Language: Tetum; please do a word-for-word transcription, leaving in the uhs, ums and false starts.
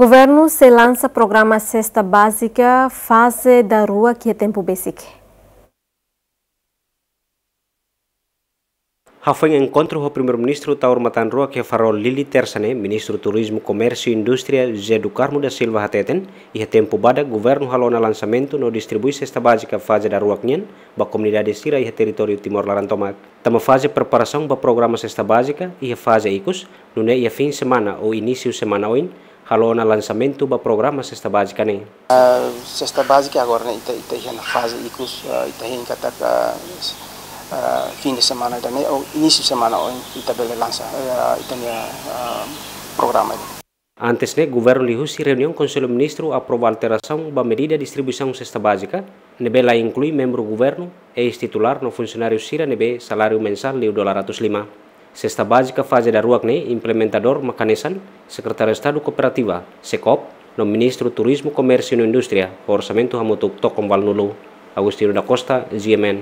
Governu sei lansa programa Sesta Bázika faze daruak iha tempu besik. Hafoin enkontru ho Primeiru-Ministru Taur Matan Ruak iha Farol, Dili, Tersa ne'e, Ministru Turizmu, Komérsiu no Indústria, José do Carmo da Silva, hateten, iha tempu badak governu halo ona lansamentu no distribui sesta bázika faze daruak nian ba komunidade sira iha territóriu Timor laran tomak. Tama faze preparasaun ba programa sesta bázika iha faze ikus, nune'e iha fin semana ou inísiu semana oin, halo ona lansamentu ba programa sesta bázika ne'e. Ah, sesta bázika agora ne'e ita, ita iha ona faze ikus, ah, ita hein katak, ah, fin de semana ida-ne'e ou inísiu semana oin ita bele lansa, ah, ita-nia, ah, programa ida. Antes ne'e, governu liuhusi reuniaun Konsellu Ministru aprova alterasaun ba medida distribuisaun sesta bázika, ne'ebé la inklui membru governu, eis-titulár no funsionáriu sira ne'ebé saláriu mensál liu dolar atus lima. Sesta bázika faze daruak ne'e implementadór mak hanesan Sekretáriu Estadu Kooperativa, SEKOOP, no Ministru Turizmu, Komérsiu no Indústria, ho orsamentu hamutuk tokon valunulu. Agostinho da Costa, G M N.